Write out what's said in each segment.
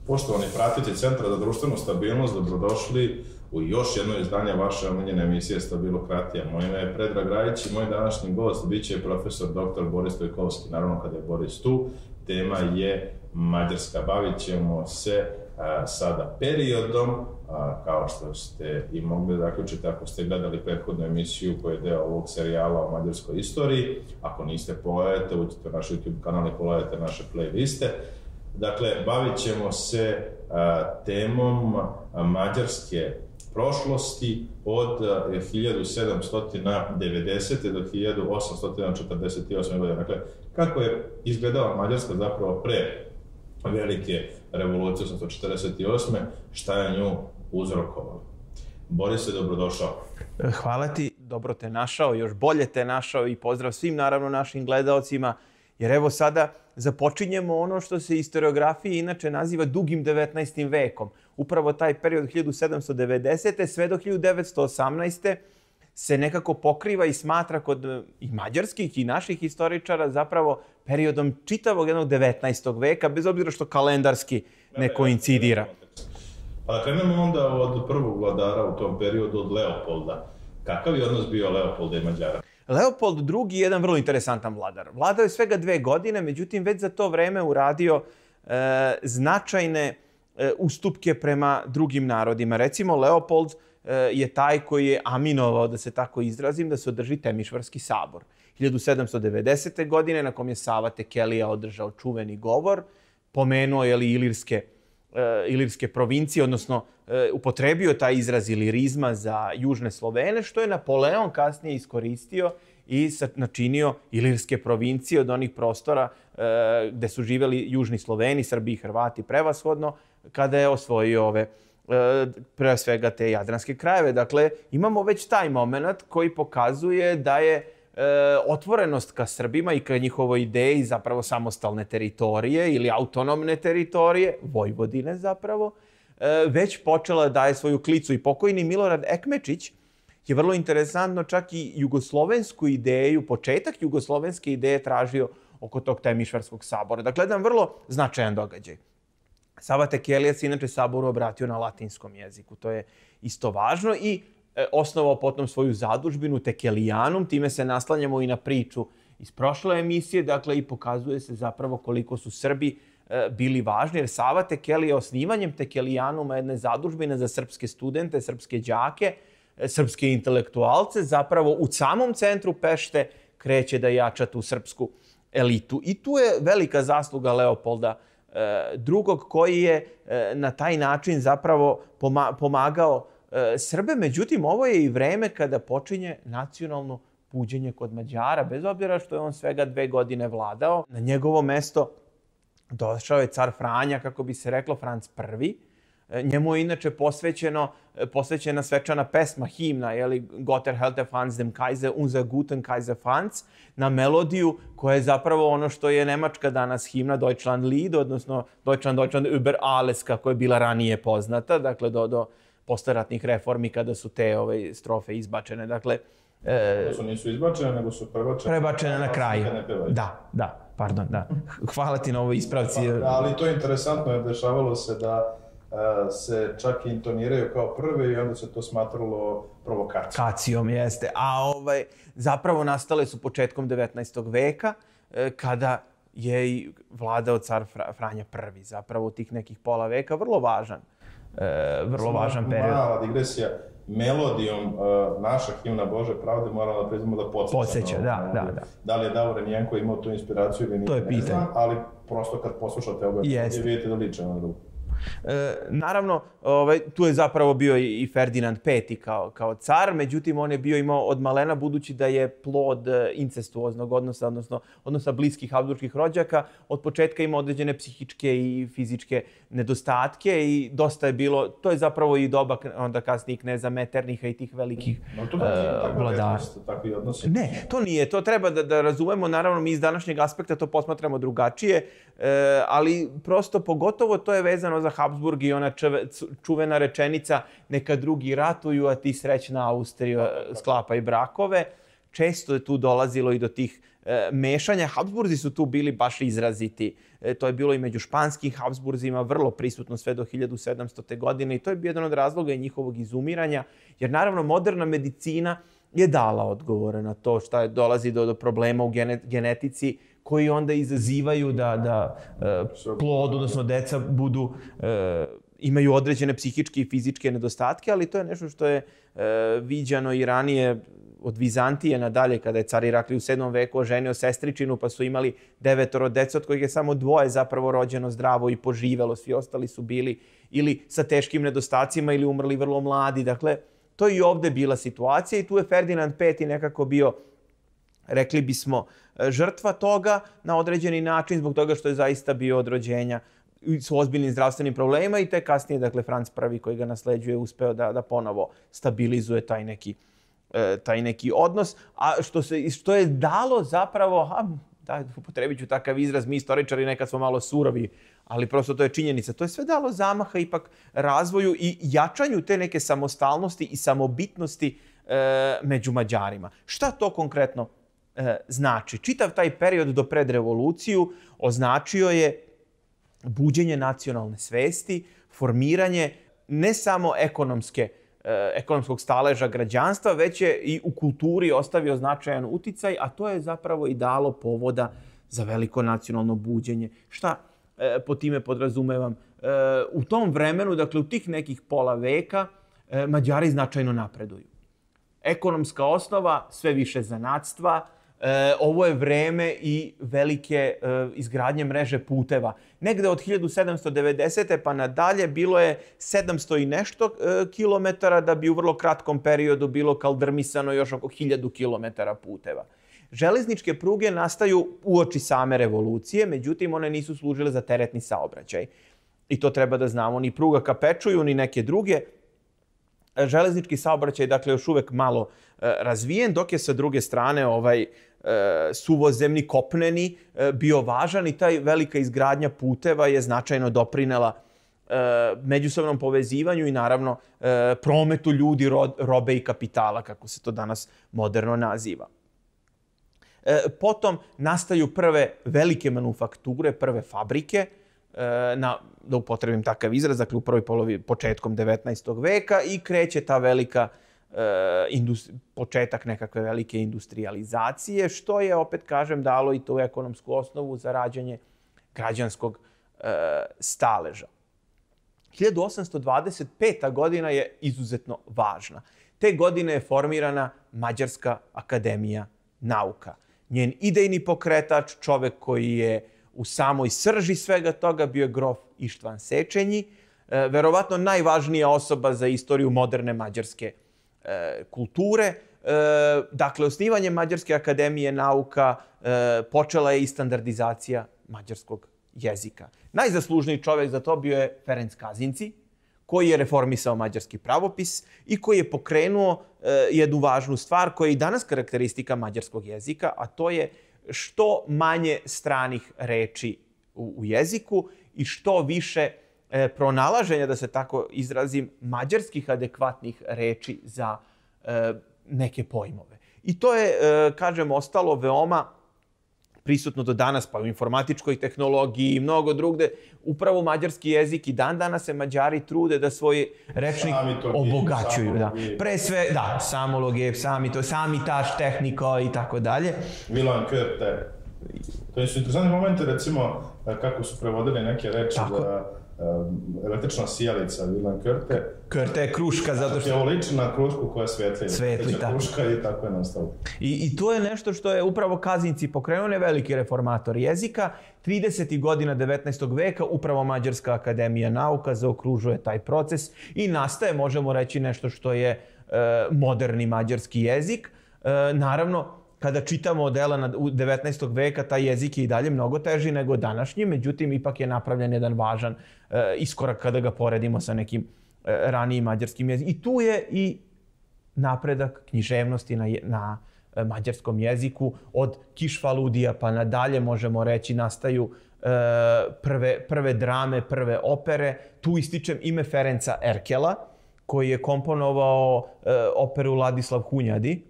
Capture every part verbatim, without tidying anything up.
Poštovani pratitelji Centra za društvenu stabilnost, dobrodošli u još jedno izdanje vaše omiljene emisije Stabilokratija. Moje ime je Predrag Rajić i moj današnji gost biće profesor doktor Boris Stojkovski. Naravno, kada je Boris tu, tema je Mađarska. Bavit ćemo se a, sada periodom, a, kao što ste i mogli zaključiti ako ste gledali prethodnu emisiju koja je deo ovog serijala o mađarskoj istoriji. Ako niste, pogledajte, uđite na naš YouTube kanal i pogledajte naše playliste. Dakle, bavit ćemo se a, temom a, mađarske prošlosti od hiljadu sedamsto devedesete. do hiljadu osamsto četrdeset osme. godine. Dakle, kako je izgledala Mađarska zapravo pre velike revolucije osamsto četrdeset osme. Šta je nju uzrokovalo? Boris, dobrodošao. Hvala ti, dobro te našao, još bolje te našao i pozdrav svim naravno našim gledaocima. Jer evo sada započinjemo ono što se istoriografiji inače naziva dugim devetnaestim vekom. Upravo taj period od hiljadu sedamsto devedesete. sve do hiljadu devetsto osamnaeste. se nekako pokriva i smatra kod i mađarskih i naših historičara zapravo periodom čitavog jednog devetnaestog veka, bez obzira što kalendarski ne koincidira. Pa da krenemo onda od prvog vladara u tom periodu, od Leopolda. Kakav je odnos bio Leopolda i Mađara? Leopold drugi je jedan vrlo interesantan vladar. Vladao je svega dve godine, međutim već za to vreme uradio e, značajne e, ustupke prema drugim narodima. Recimo, Leopold e, je taj koji je aminovao, da se tako izrazim, da se održi Temišvarski sabor. hiljadu sedamsto devedesete. godine, na kom je Sava Tekelija održao čuveni govor, pomenuo je li ilirske ilirske provincije, odnosno upotrebio taj izraz ilirizma za južne Slovene, što je Napoleon kasnije iskoristio i načinio ilirske provincije od onih prostora gde su živeli južni Sloveni, Srbi i Hrvati prevashodno, kada je osvojio ove pre svega te jadranske krajeve. Dakle, imamo već taj moment koji pokazuje da je otvorenost ka Srbima i ka njihovoj ideji zapravo samostalne teritorije ili autonomne teritorije, Vojvodine zapravo, već počela da daje svoju klicu. I pokojni Milorad Ekmečić je vrlo interesantno čak i jugoslovensku ideju, početak jugoslovenske ideje tražio oko tog Temišvarskog sabora. Dakle, jedan vrlo značajan događaj. Sava Tekelija se inače saboru obratio na latinskom jeziku. To je isto važno i osnovao potom svoju zadužbinu Tekelijanum. Time se naslanjamo i na priču iz prošle emisije, dakle i pokazuje se zapravo koliko su Srbi bili važni, jer Sava Tekelija osnivanjem Tekelijanuma, jedne zadužbine za srpske studente, srpske đake, srpske intelektualce, zapravo u samom centru Pešte kreće da jača tu srpsku elitu. I tu je velika zasluga Leopolda drugog, koji je na taj način zapravo pomagao Srbe. Međutim, ovo je i vreme kada počinje nacionalno buđenje kod Mađara, bez obzira što je on svega dve godine vladao. Na njegovo mesto došao je car Franja, kako bi se reklo, Franc prvi. Njemu je inače posvećeno, posvećena svečana pesma, himna, jeli, Gott erhalte Franz dem Kaiser, unser guten Kaiser Franz, na melodiju koja je zapravo ono što je nemačka danas himna, Deutschland Lied, odnosno Deutschland, Deutschland über alles, kako je bila ranije poznata, dakle do, do postaratnih reformi kada su te ove strofe izbačene. Dakle, e, su nisu izbačene, nego su prebačene. Prebačene na kraju. Da, da, pardon, da. Hvala ti na ovoj ispravci. Pa, ali to je interesantno, jer dešavalo se da a, se čak intoniraju kao prve i onda se to smatralo provokacijom. Kacijom, jeste. A ovaj, zapravo nastale su početkom devetnaestog veka, kada je i vladao car Franja prvi. Zapravo u tih nekih pola veka, vrlo važan. E, vrlo važan period. Mala digresija, melodijom uh, naša himna Bože pravde morala da priznamo da podsjeća. Podsjeća, da, da, da. Da li je Davorin Jenko imao tu inspiraciju ili nije, to je pitanje. Ne znam, ali prosto kad poslušate ovo, vidite da liče na drugu. E, naravno, ovaj, tu je zapravo bio i Ferdinand peti kao, kao car, međutim on je bio imao od malena, budući da je plod incestuoznog odnosa, odnosno odnosa bliskih habsburških rođaka, od početka imao određene psihičke i fizičke nedostatke i dosta je bilo, to je zapravo i doba onda kasnijih kneza Metternicha i tih velikih no, to uh, vladara. Takvi odnosi? Ne, to nije, to treba da, da razumemo, naravno mi iz današnjeg aspekta to posmatramo drugačije, e, ali prosto pogotovo to je vezano za Habsburg i ona čeve, čuvena rečenica neka drugi ratuju, a ti srećna Austrija sklapaj brakove. Često je tu dolazilo i do tih mešanja. Habsburzi su tu bili baš izraziti. To je bilo i među španskim Habsburzima vrlo prisutno sve do hiljadu sedamstote. godine i to je bio jedan od razloga i njihovog izumiranja, jer naravno moderna medicina je dala odgovore na to šta je, dolazi do, do problema u genetici koji onda izazivaju da, da plod, odnosno deca budu, imaju određene psihičke i fizičke nedostatke, ali to je nešto što je viđano i ranije od Vizantije nadalje, kada je car Iraklij u sedmom veku oženio sestričinu, pa su imali devetoro deca, od kojih je samo dvoje zapravo rođeno zdravo i poživelo, svi ostali su bili ili sa teškim nedostacima ili umrli vrlo mladi. Dakle, to je i ovde bila situacija i tu je Ferdinand peti nekako bio, rekli bismo, žrtva toga na određeni način, zbog toga što je zaista bio od rođenja s ozbiljnim zdravstvenim problemima i te kasnije, dakle, Franc prvi koji ga nasleđuje uspeo da, da ponovo stabilizuje taj neki, taj neki odnos. A što, se, što je dalo zapravo, a, da, upotrebit ću takav izraz, mi istoričari nekad smo malo surovi, ali prosto to je činjenica. To je sve dalo zamaha ipak razvoju i jačanju te neke samostalnosti i samobitnosti e, među Mađarima. Šta to konkretno e, znači? Čitav taj period do pred revoluciju označio je buđenje nacionalne svesti, formiranje ne samo ekonomske, e, ekonomskog staleža građanstva, već je i u kulturi ostavio značajan uticaj, a to je zapravo i dalo povoda za veliko nacionalno buđenje. Šta e, po time podrazumevam? E, u tom vremenu, dakle u tih nekih pola veka, e, Mađari značajno napreduju. Ekonomska osnova, sve više zanatstva. E, ovo je vreme i velike e, izgradnje mreže puteva. Negde od hiljadu sedamsto devedesete pa nadalje bilo je sedamsto i nešto e, kilometara, da bi u vrlo kratkom periodu bilo kaldrmisano još oko hiljadu kilometara puteva. Železničke pruge nastaju uoči same revolucije, međutim one nisu služile za teretni saobraćaj. I to treba da znamo. Ni pruga ka Pečuju, ni neke druge. Železnički saobraćaj, dakle, još uvek malo e, razvijen, dok je sa druge strane ovaj e, suvozemni, kopneni e, bio važan i taj velika izgradnja puteva je značajno doprinela e, međusobnom povezivanju i naravno e, prometu ljudi, ro, robe i kapitala, kako se to danas moderno naziva. E, potom nastaju prve velike manufakture, prve fabrike, na, da upotrebim takav izraz, dakle u prvoj polovi početkom devetnaestog veka i kreće ta velika e, industri, početak nekakve velike industrializacije, što je, opet kažem, dalo i tu ekonomsku osnovu za rađanje građanskog e, staleža. hiljadu osamsto dvadeset peta. godina je izuzetno važna. Te godine je formirana Mađarska akademija nauka. Njen idejni pokretač, čovek koji je u samoj srži svega toga, bio je grof Ištvan Sečenji, e, verovatno najvažnija osoba za istoriju moderne mađarske e, kulture. E, dakle, osnivanjem Mađarske akademije nauka e, počela je i standardizacija mađarskog jezika. Najzaslužniji čovjek za to bio je Ferenc Kazinci, koji je reformisao mađarski pravopis i koji je pokrenuo e, jednu važnu stvar koja je i danas karakteristika mađarskog jezika, a to je što manje stranih reči u, u jeziku i što više e, pronalaženja, da se tako izrazim, mađarskih adekvatnih reči za e, neke pojmove. I to je, e, kažem, ostalo veoma prisutno do danas, pa u informatičkoj tehnologiji i mnogo drugde. Upravo mađarski jezik i dan danas se Mađari trude da svoj rečnik obogaćuju. Da. Pre sve, da, samologe, sami to, sami taš, tehnika i tako dalje. Milan Körte. To su interesantni momenti, recimo, kako su prevodili neke reči da električna sijalica, Milan Körte. Körte je kruška, zato što... je ovo liči na krušku koja svetli. Svetli, tako. Kruška i tako je nastalo. I, I to je nešto što je upravo Kazinci pokrenuo, ne veliki reformator jezika. tridesetih godina devetnaestog veka upravo Mađarska akademija nauka zaokružuje taj proces i nastaje, možemo reći, nešto što je e, moderni mađarski jezik. E, naravno, kada čitamo dela devetnaestog veka, taj jezik je i dalje mnogo teži nego današnji, međutim, ipak je napravljen jedan važan e, iskorak kada ga poredimo sa nekim e, ranijim mađarskim jezikom. I tu je i napredak književnosti na, na e, mađarskom jeziku. Od Kišfaludija pa nadalje, možemo reći, nastaju e, prve, prve drame, prve opere. Tu ističem ime Ferenca Erkela, koji je komponovao e, operu Ladislav Hunjadi,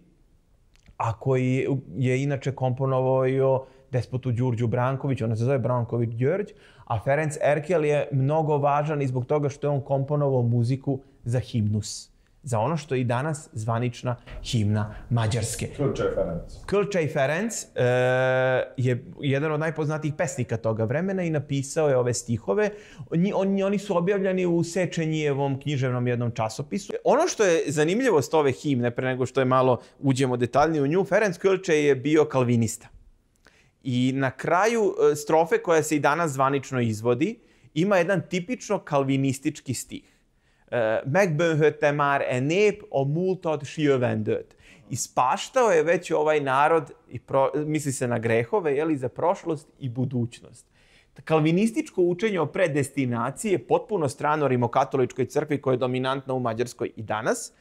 a koji je inače komponovao despotu Đurđu Brankoviću, ona se zove Branković Đorđ, a Ferenc Erkel je mnogo važan i zbog toga što je on komponovao muziku za himnus. Za ono što je i danas zvanična himna Mađarske. Krlčaj Ferenc. Krlčaj Ferenc e, je jedan od najpoznatijih pesnika toga vremena i napisao je ove stihove. Oni, oni, oni su objavljeni u Sečenjijevom književnom jednom časopisu. Ono što je zanimljivost ove himne, pre nego što je malo uđemo detaljnije u nju, Ferenc Krlčaj je bio kalvinista. I na kraju strofe koja se i danas zvanično izvodi, ima jedan tipično kalvinistički stih. Megbönhötte már e nép a múltat s jövendőt. Ispaštao je već ovaj narod, i pro, misli se na grehove, jeli, za prošlost i budućnost. Kalvinističko učenje o predestinaciji je potpuno strano rimokatoličkoj crkvi koja je dominantna u Mađarskoj i danas.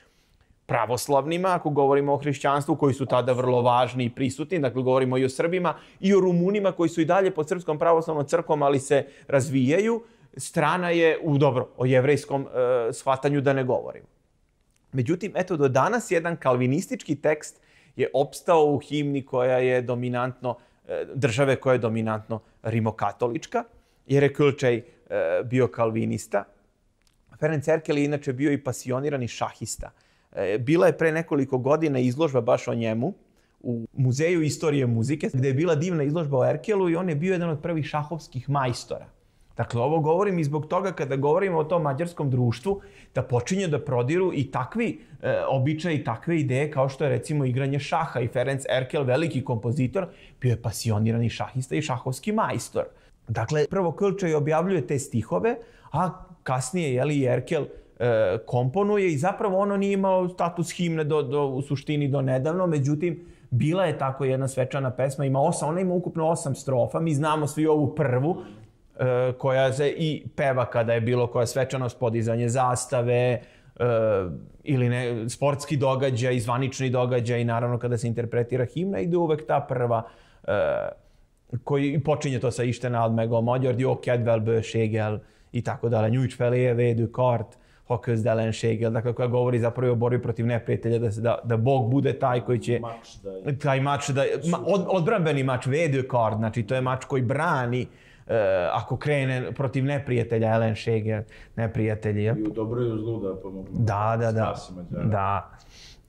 Pravoslavnima, ako govorimo o hrišćanstvu, koji su tada vrlo važni i prisutni, dakle govorimo i o Srbima i o Rumunima koji su i dalje pod Srpskom pravoslavnom crkvom, ali se razvijaju. Strana je, u dobro, o jevrejskom e, shvatanju da ne govorimo. Međutim, eto, do danas jedan kalvinistički tekst je opstao u himni koja je dominantno, e, države koja je dominantno rimokatolička, jer je Krlčaj e, bio kalvinista. Ferenc Erkel je inače bio i pasionirani šahista. E, bila je pre nekoliko godina izložba baš o njemu u Muzeju istorije muzike, gde je bila divna izložba o Erkelu i on je bio jedan od prvih šahovskih majstora. Dakle, ovo govorim i zbog toga kada govorimo o tom mađarskom društvu, da počinje da prodiru i takvi e, običaji i takve ideje kao što je recimo igranje šaha. I Ferenc Erkel, veliki kompozitor, bio je pasionirani šahista i šahovski majstor. Dakle, prvo Krlčaj objavljuje te stihove, a kasnije, jeli, Erkel e, komponuje i zapravo ono nije imao status himne do, do, u suštini do nedavno, međutim, bila je tako jedna svečana pesma, ima osam, ona ima ukupno osam strofa, mi znamo svi ovu prvu, koja se i peva kada je bilo koja svečanost, podizanje zastave e, ili ne, sportski događaj, zvanični događaj i naravno kada se interpretira himna ide uvek ta prva e, koji počinje to sa Isten meg a magyar jó kedvelbőséggel i tako dalje. Nyújts felé védő kart, ha közdelenséggel. Dakle, koja govori zapravo o borbi protiv neprijatelja, da, da, da Bog bude taj koji će... Mač da je... Taj mač da je... Ma, od, odbrambeni mač, védő kart, znači to je mač koji brani Uh, ako krene protiv neprijatelja, ellenséggel, neprijatelji. I u dobro i u zlu da pomogu. Da, da, da. da.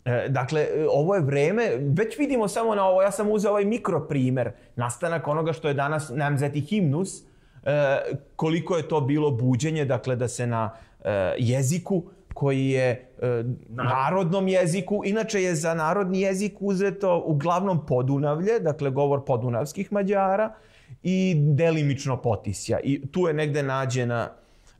E, dakle, ovo je vreme, već vidimo samo na ovo, ja sam uzeo ovaj mikroprimer, nastanak onoga što je danas namzeti himnus, e, koliko je to bilo buđenje, dakle, da se na e, jeziku koji je e, narodnom jeziku, inače je za narodni jezik uzeto uglavnom Podunavlje, dakle, govor podunavskih Mađara, i delimično Potisja. I tu je negde nađena,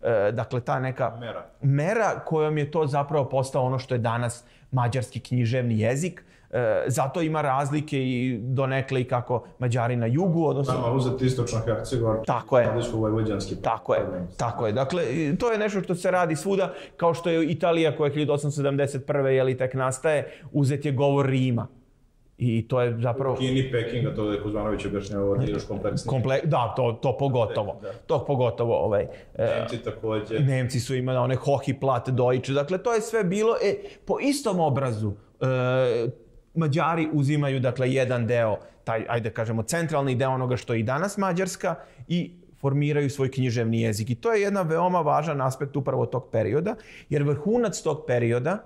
e, dakle, ta neka mera. mera kojom je to zapravo postao ono što je danas mađarski književni jezik. E, zato ima razlike i donekle i kako Mađari na jugu, odnosno... Nama uzeti istočna Hercegovina, tako je. Vojvođanski. Tako je, tako je. Dakle, to je nešto što se radi svuda, kao što je Italija koja hiljadu osamsto sedamdeset prve jeli tek nastaje, uzet je govor Rima. I to je zapravo... U Kini, Pekinga, to je Kuzmanović objašnjava još kompleksnije. Komple... Da, to, to pogotovo. Da. To pogotovo. Ovaj, Nemci također. Nemci su imali one Hohi Plat Deutsche. Dakle, to je sve bilo e, po istom obrazu. E, Mađari uzimaju, dakle, jedan deo, taj, ajde kažemo, centralni deo onoga što je i danas Mađarska i formiraju svoj književni jezik. I to je jedan veoma važan aspekt upravo tog perioda, jer vrhunac tog perioda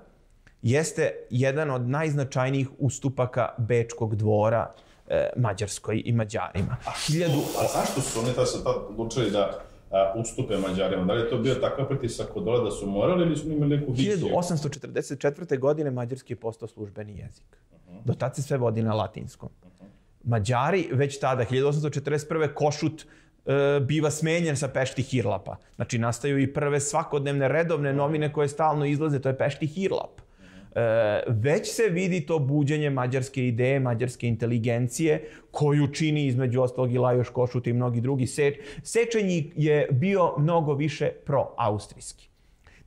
jeste jedan od najznačajnijih ustupaka Bečkog dvora e, Mađarskoj i Mađarima. A, Hiljadu... a zašto su oni se tad odlučili da a, ustupe Mađarima? Da li je to bio takav pritisak od dole da su morali ili su imali neku viziju? hiljadu osamsto četrdeset četvrte. godine mađarski je postao službeni jezik. Uh-huh. Do tad se sve vodi na latinskom. Uh-huh. Mađari već tada, hiljadu osamsto četrdeset prve. Košut e, biva smenjen sa Pešti Hirlapa. Znači, nastaju i prve svakodnevne redovne novine koje stalno izlaze, to je Pešti Hirlap. E, već se vidi to buđenje mađarske ideje, mađarske inteligencije, koju čini između ostalog i Lajoš Košut i mnogi drugi. Se, Sečenji je bio mnogo više pro-austrijski.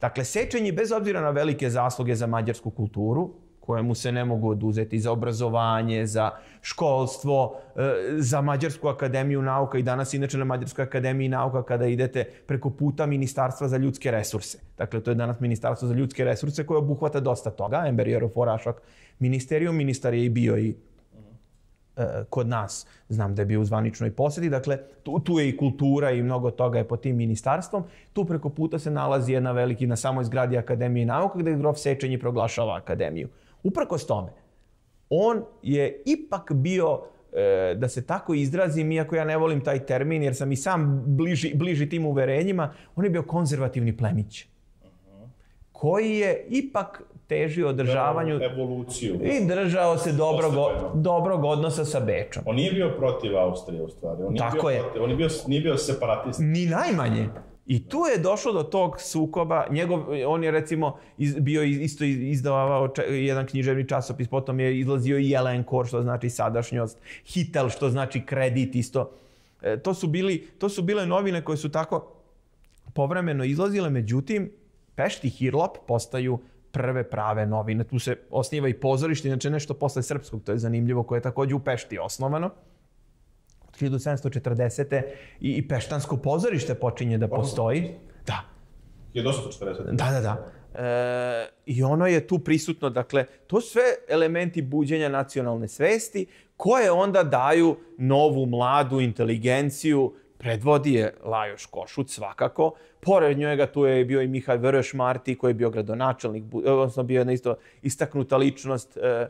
Dakle, Sečenji, bez obzira na velike zasluge za mađarsku kulturu, koje mu se ne mogu oduzeti za obrazovanje, za školstvo, za Mađarsku akademiju nauka i danas inače na Mađarskoj akademiji nauka kada idete preko puta Ministarstva za ljudske resurse. Dakle, to je danas Ministarstvo za ljudske resurse koje obuhvata dosta toga. Ember Forašak ministerijum, ministar je i bio i kod nas, znam da je bio u zvaničnoj posjeti, dakle tu, tu je i kultura i mnogo toga je pod tim ministarstvom. Tu preko puta se nalazi jedna veliki na samoj zgradi Akademije nauka gde grof Sečenji proglašava akademiju. Uprkos tome, on je ipak bio, e, da se tako izrazim, iako ja ne volim taj termin jer sam i sam bliži, bliži tim uverenjima, on je bio konzervativni plemić koji je ipak težio održavanju evoluciju i držao se dobrog, dobrog odnosa sa Bečom. On nije bio protiv Austrije u stvari. On nije Tako bio je. Protiv, on nije bio, nije bio separatista. Ni najmanje. I tu je došlo do tog sukoba. Njegov, on je recimo iz, bio isto izdavao če, jedan književni časopis, potom je izlazio i Jelenkor, što znači sadašnjost, Hitel, što znači kredit isto. E, to, su bili, to su bile novine koje su tako povremeno izlazile, međutim, Pešti Hirlop postaju prve prave novine. Tu se osniva i pozorište, inače nešto posle srpskog, to je zanimljivo, koje je također u Pešti osnovano. Od hiljadu sedamsto četrdesete. I, i Peštansko pozorište počinje da postoji. Da. hiljadu osamsto četrdesete. Da, da, da. E, I ono je tu prisutno. Dakle, to su sve elementi buđenja nacionalne svesti koje onda daju novu, mladu inteligenciju. Predvodi je Lajoš Košut svakako. Pored njega tu je bio i Mihaj Vrš Marti koji je bio gradonačelnik, odnosno bio jedna isto istaknuta ličnost, e,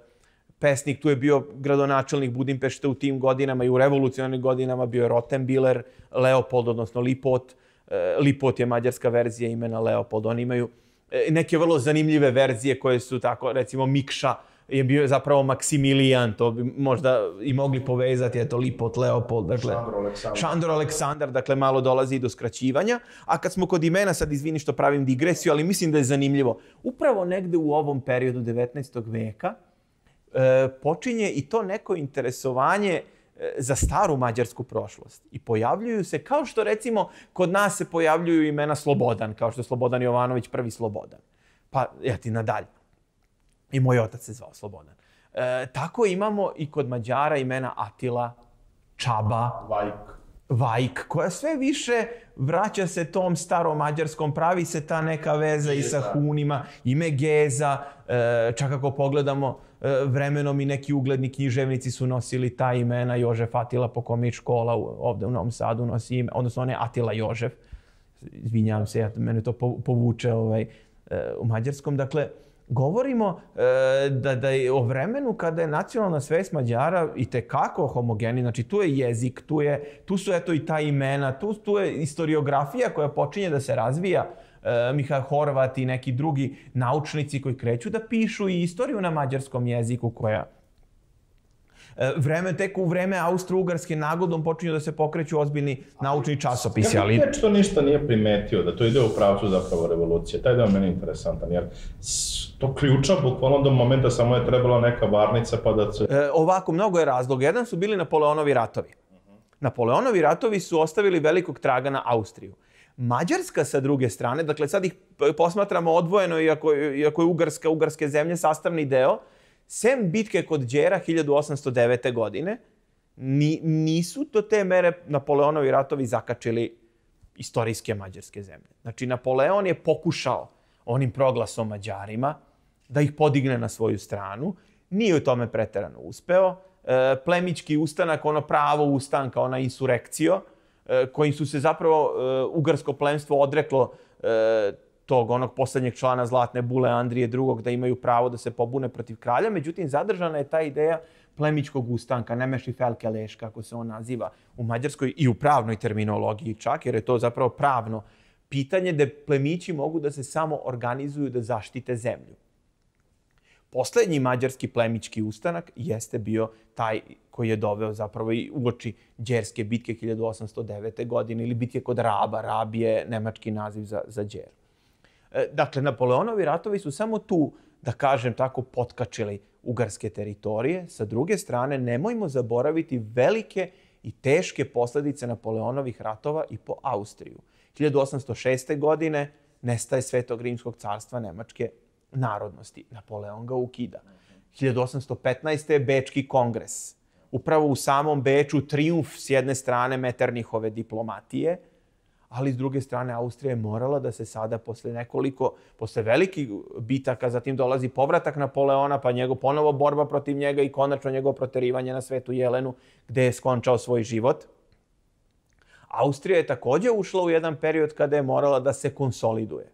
pesnik. Tu je bio gradonačelnik Budimpešte u tim godinama i u revolucionarnim godinama bio je Rottenbiller, Leopold, odnosno Lipot. E, Lipot je mađarska verzija imena Leopold. Oni imaju e, neke vrlo zanimljive verzije koje su tako, recimo Mikša je bio zapravo Maksimilijan, to bi možda i mogli povezati, eto Lipot, Leopold, dakle, Šandor Aleksandar. Šandor Aleksandar, dakle malo dolazi i do skraćivanja. A kad smo kod imena, sad izvini što pravim digresiju, ali mislim da je zanimljivo. Upravo negde u ovom periodu devetnaestog veka e, počinje i to neko interesovanje e, za staru mađarsku prošlost. I pojavljuju se, kao što recimo kod nas se pojavljuju imena Slobodan, kao što je Slobodan Jovanović, prvi Slobodan. Pa, ja ti nadalje. I moj otac se zvao Slobodan. E, tako imamo i kod Mađara imena Atila, Čaba, Vajk. Vajk, koja sve više vraća se tom starom mađarskom, pravi se ta neka veza i sa Hunima, ime Geza, e, čak ako pogledamo e, vremenom i neki ugledni književnici su nosili ta imena, Jožef Atila, po kome je škola ovde u Novom Sadu nosi ime, odnosno on je Atila Jožef, izvinjavam se, ja, mene to povuče ovaj, e, u mađarskom, dakle, govorimo e, da, da je o vremenu kada je nacionalna svest Mađara i tekako homogeni, znači tu je jezik, tu, je, tu su eto i ta imena, tu, tu je istoriografija koja počinje da se razvija, e, Mihaj Horvat i neki drugi naučnici koji kreću da pišu i istoriju na mađarskom jeziku koja vreme, tek u vreme Austro-Ugarske nagodom počinju da se pokreću ozbiljni naučni časopisi. Ali kako to ništa nije primetio, da to ide u pravcu zapravo revolucije? Taj deo meni je interesantan, jer to ključa bukvalno do momenta samo je trebala neka varnica pa da se... E, ovako, mnogo je razloga. Jedan su bili Napoleonovi ratovi. Uh-huh. Napoleonovi ratovi su ostavili velikog traga na Austriju. Mađarska sa druge strane, dakle sad ih posmatramo odvojeno, iako, iako je Ugarska, Ugarske zemlje sastavni deo, sem bitke kod Đera hiljadu osamsto devete. godine, ni, nisu do te mere Napoleonovi ratovi zakačili istorijske mađarske zemlje. Znači, Napoleon je pokušao onim proglasom Mađarima da ih podigne na svoju stranu. Nije u tome preterano uspeo. E, plemički ustanak, ono pravo ustanka, ona insurekcio, e, kojim su se zapravo e, ugarsko plemstvo odreklo e, tog onog posljednjeg člana Zlatne bule Andrije drugog. da imaju pravo da se pobune protiv kralja. Međutim, zadržana je ta ideja plemičkog ustanka, Nemeši Felkeleš, kako se on naziva u mađarskoj i u pravnoj terminologiji čak, jer je to zapravo pravno pitanje da plemići mogu da se samo organizuju da zaštite zemlju. Posljednji mađarski plemički ustanak jeste bio taj koji je doveo zapravo i uoči Đerske bitke hiljadu osamsto devete. godine ili bitke kod Raba. Rab je nemački naziv za, za Đer. Dakle, Napoleonovi ratovi su samo tu, da kažem tako, potkačili ugarske teritorije. Sa druge strane, nemojmo zaboraviti velike i teške posljedice Napoleonovih ratova i po Austriju. hiljadu osamsto šeste. godine nestaje Svetog rimskog carstva Nemačke narodnosti. Napoleon ga ukida. hiljadu osamsto petnaeste. Bečki kongres. Upravo u samom Beču trijumf s jedne strane Metternichove diplomatije, ali s druge strane Austrija je morala da se sada posle nekoliko, posle velikih bitaka, zatim dolazi povratak Napoleona, pa njegov ponovo borba protiv njega i konačno njegovo proterivanje na Svetu Jelenu, gde je skončao svoj život. Austrija je takođe ušla u jedan period kada je morala da se konsoliduje.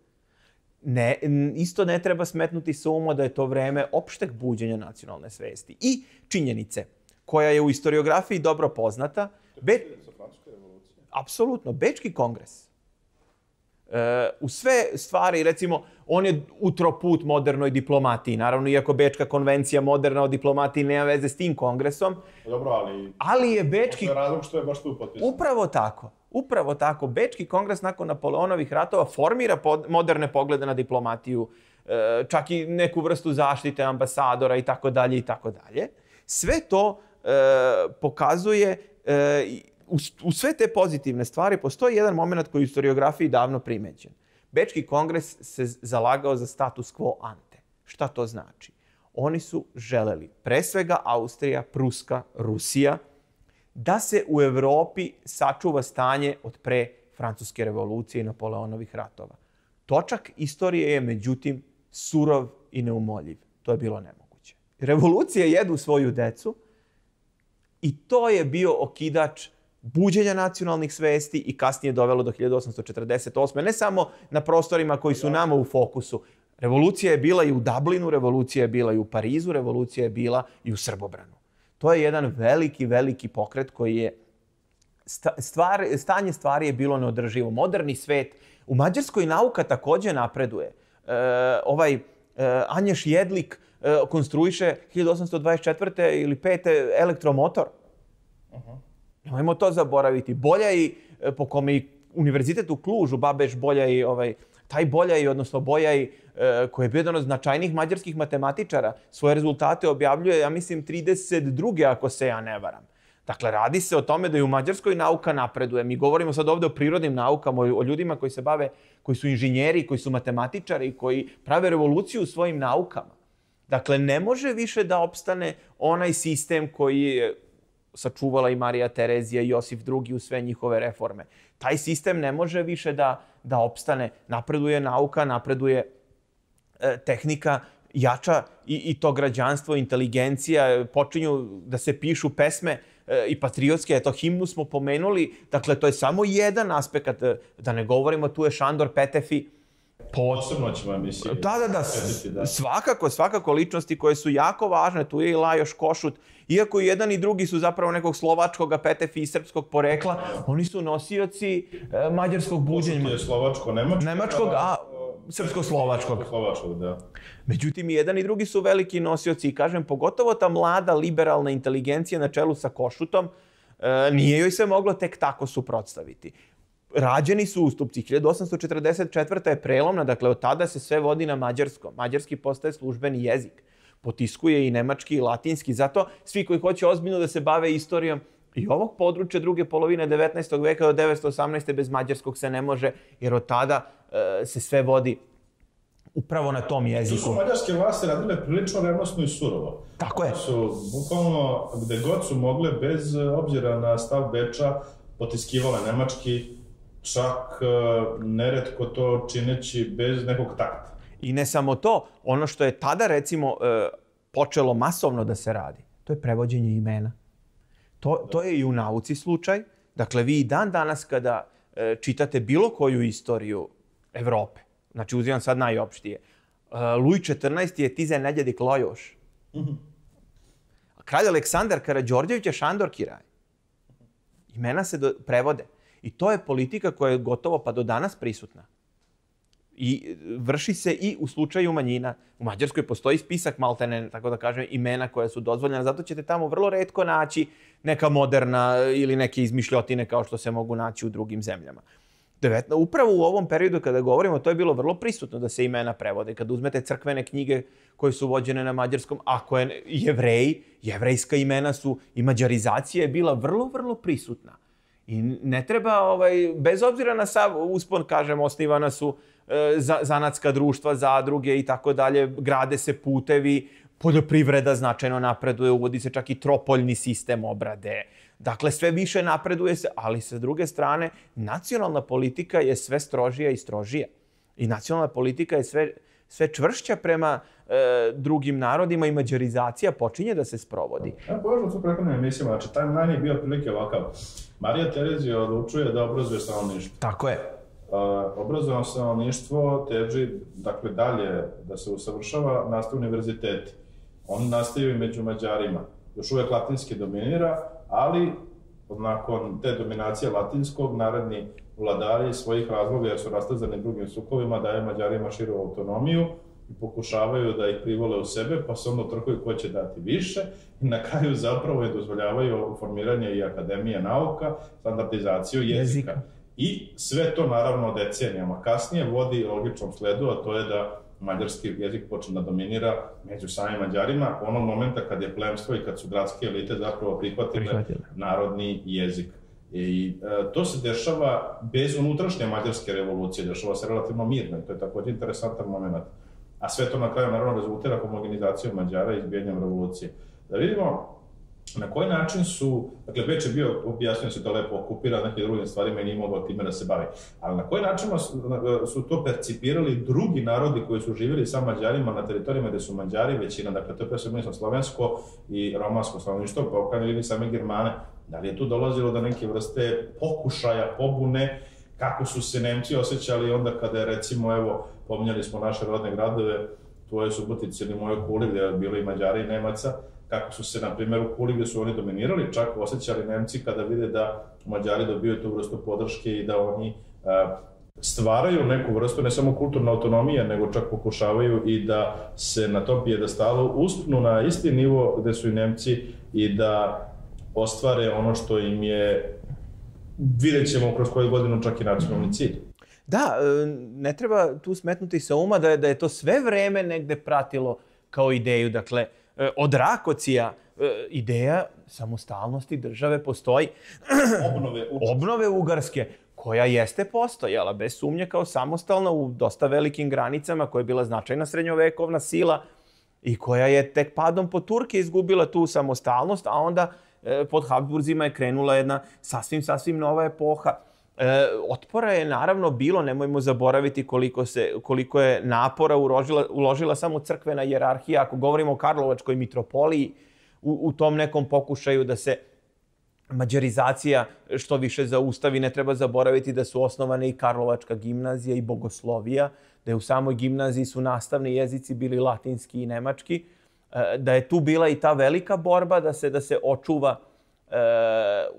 Ne, isto ne treba smetnuti sa uma da je to vreme opšteg buđenja nacionalne svesti. I činjenice, koja je u historiografiji dobro poznata, Be... apsolutno, Bečki kongres. E, u sve stvari, recimo, on je utro put modernoj diplomatiji. Naravno, iako Bečka konvencija moderna o diplomatiji nema veze s tim kongresom. Dobro, ali... Ali je Bečki... Postoje razlog što je baš tu potpisano. Upravo tako. Upravo tako. Bečki kongres nakon Napoleonovih ratova formira pod, moderne poglede na diplomatiju, e, čak i neku vrstu zaštite ambasadora i tako dalje i tako dalje. Sve to e, pokazuje... E, U, u sve te pozitivne stvari postoji jedan moment koji je u historiografiji davno primećen. Bečki kongres se zalagao za status quo ante. Šta to znači? Oni su želeli, pre svega Austrija, Pruska, Rusija, da se u Evropi sačuva stanje od pre Francuske revolucije i Napoleonovih ratova. Točak istorije je, međutim, surov i neumoljiv. To je bilo nemoguće. Revolucije jedu svoju decu i to je bio okidač buđenja nacionalnih svesti i kasnije dovelo do hiljadu osamsto četrdeset osme. Ne samo na prostorima koji su nama u fokusu. Revolucija je bila i u Dublinu, revolucija je bila i u Parizu, revolucija je bila i u Srbobranu. To je jedan veliki, veliki pokret koji je... Stvar, stanje stvari je bilo neodrživo. Moderni svet. U Mađarskoj nauka takođe napreduje. E, ovaj e, Anješ Jedlik e, konstruiše hiljadu osamsto dvadeset četvrte ili pete elektromotor. Uh-huh. Nemojmo to zaboraviti. Boljaj, po kome i univerzitet u Klužu, Babeš Boljaj, ovaj, taj Boljaj, odnosno Bojaj, koji je bio jedan od značajnih mađarskih matematičara, svoje rezultate objavljuje, ja mislim, trideset druge ako se ja ne varam. Dakle, radi se o tome da i u Mađarskoj nauka napreduje. Mi govorimo sad ovde o prirodnim naukama, o ljudima koji se bave, koji su inženjeri, koji su matematičari, koji prave revoluciju u svojim naukama. Dakle, ne može više da opstane onaj sistem koji je sačuvala i Marija Terezija i Josif drugi u sve njihove reforme. Taj sistem ne može više da, da opstane. Napreduje nauka, napreduje e, tehnika, jača i, i to građanstvo, inteligencija, počinju da se pišu pesme e, i patriotske, eto, himnu smo pomenuli, dakle, to je samo jedan aspekt, da ne govorimo, tu je Šandor Petefi. Posebno ćemo emisiji. Da, da, da, da, svakako, svakako ličnosti koje su jako važne, tu je i Lajoš Košut, iako i jedan i drugi su zapravo nekog slovačkog Petefi i srpskog porekla, oni su nosioci e, mađarskog buđenja. Košut je slovačko-nemačkog. Nemačkog, a srpsko-slovačkog. Slovačkog, da. Međutim, i jedan i drugi su veliki nosioci i kažem, pogotovo ta mlada liberalna inteligencija na čelu sa Košutom, e, nije joj se moglo tek tako suprotstaviti. Rađeni su ustupci. hiljadu osamsto četrdeset četvrta je prelomna, dakle od tada se sve vodi na mađarskom. Mađarski postaje službeni jezik. Potiskuje i nemački i latinski. Zato svi koji hoće ozbiljno da se bave istorijom i ovog područja druge polovine devetnaestog veka do devetsto osamnaeste bez mađarskog se ne može, jer od tada e, se sve vodi upravo na tom jeziku. Tu su mađarske vlasti radile prilično revnosno i surovo. Tako je. Su bukvalno gde god su mogle, bez obzira na stav Beča, potiskivale nemački, čak neretko to čineći bez nekog takta. I ne samo to, ono što je tada, recimo, počelo masovno da se radi, to je prevođenje imena. To, to je i u nauci slučaj. Dakle, vi i dan danas kada čitate bilo koju istoriju Evrope, znači uzimam sad najopštije, Luj četrnaesti je Tize Nedjedik Lojoš. Kralj Aleksandar Karađorđević je Šandor Kiraj. Imena se do, prevode. I to je politika koja je gotovo pa do danas prisutna. I vrši se i u slučaju manjina. U Mađarskoj postoji spisak maltene, tako da kažem, imena koja su dozvoljena. Zato ćete tamo vrlo retko naći neka moderna ili neke izmišljotine kao što se mogu naći u drugim zemljama. Devetna, upravo u ovom periodu kada govorimo, to je bilo vrlo prisutno da se imena prevode. Kada uzmete crkvene knjige koje su vođene na mađarskom, ako je Jevreji, jevrejska imena su i mađarizacija je bila vrlo, vrlo prisutna. I ne treba, ovaj, bez obzira na sav uspon, kažem, osnivana su e, za, zanatska društva, zadruge i tako dalje, grade se putevi, poljoprivreda značajno napreduje, uvodi se čak i tropoljni sistem obrade. Dakle, sve više napreduje se, ali sa druge strane, nacionalna politika je sve strožija i strožija. I nacionalna politika je sve, sve čvršća prema e, drugim narodima i mađarizacija počinje da se sprovodi. Ja povežem su prethodnim emisijama, znači taj manj je bio otprilike ovakav. Marija Terezija odlučuje da obrazuje stanovništvo. Tako je. Uh, obrazovano stanovništvo teži, dakle, dalje da se usavršava, nastaje univerziteti. On nastaje i među Mađarima. Još uvijek latinski dominira, ali nakon te dominacije latinskog, naredni vladari svojih razloga, jer su rastazani drugim sukovima, daju Mađarima širu autonomiju i pokušavaju da ih privole u sebe, pa se onda utrkuju ko će dati više i na kraju zapravo je dozvoljavaju formiranje i akademije nauka, standardizaciju jezika. jezika. I sve to, naravno, decenijama kasnije vodi logičnom sledu, a to je da mađarski jezik počne da dominira među samim Mađarima onog momenta kad je plemstvo i kad su gradske elite zapravo prihvatile, prihvatile. narodni jezik. I e, to se dešava bez unutrašnje mađarske revolucije, dešava se relativno mirno i to je također interesantan moment. A sve to na kraju naravno rezultira homogenizacijom Mađara i izbijanjem revolucije. Da vidimo na koji način su, dakle, Beč je bio, objasnio se to lepo, okupiran nekim drugim stvarima i nije mogao time da se bavi, ali na koji način su to percipirali drugi narodi koji su živjeli sa Mađarima na teritorijama gde su Mađari većina, dakle, to je pre svega slovensko i romansko stanovništvo, pa u krajnjoj liniji same Germane. Da li je tu dolazilo do neke vrste pokušaja, pobune, kako su se Nemci osjećali onda kada je, recimo, evo, pominjali smo naše rodne gradove, tvoje Subotice ili moje Kuli, gde je bilo i Mađara i Nemaca, kako su se, na primjer, u Kuli gde su oni dominirali, čak osjećali Nemci kada vide da Mađari dobiju tu vrstu podrške i da oni uh, stvaraju neku vrstu, ne samo kulturne autonomije, nego čak pokušavaju i da se na tom pijedestalu uspnu na isti nivo gde su i Nemci i da ostvare ono što im je, vidjet ćemo kroz koju godinu, čak i nacionalni cilj. Da, ne treba tu smetnuti sa uma da je, da je to sve vreme negde pratilo kao ideju. Dakle, od Rakocija ideja samostalnosti države postoji. Obnove, Obnove Ugarske, koja jeste postojala, bez sumnje, kao samostalna u dosta velikim granicama, koja je bila značajna srednjovekovna sila i koja je tek padom po Turke izgubila tu samostalnost, a onda pod Habsburzima je krenula jedna sasvim, sasvim nova epoha. E, otpora je naravno bilo, nemojmo zaboraviti koliko, se, koliko je napora uložila, uložila samo crkvena hijerarhija. Ako govorimo o Karlovačkoj mitropoliji, u, u tom nekom pokušaju da se mađarizacija što više zaustavi, ne treba zaboraviti da su osnovane i Karlovačka gimnazija i Bogoslovija, da je u samoj gimnaziji su nastavni jezici bili latinski i nemački, da je tu bila i ta velika borba da se da se očuva e,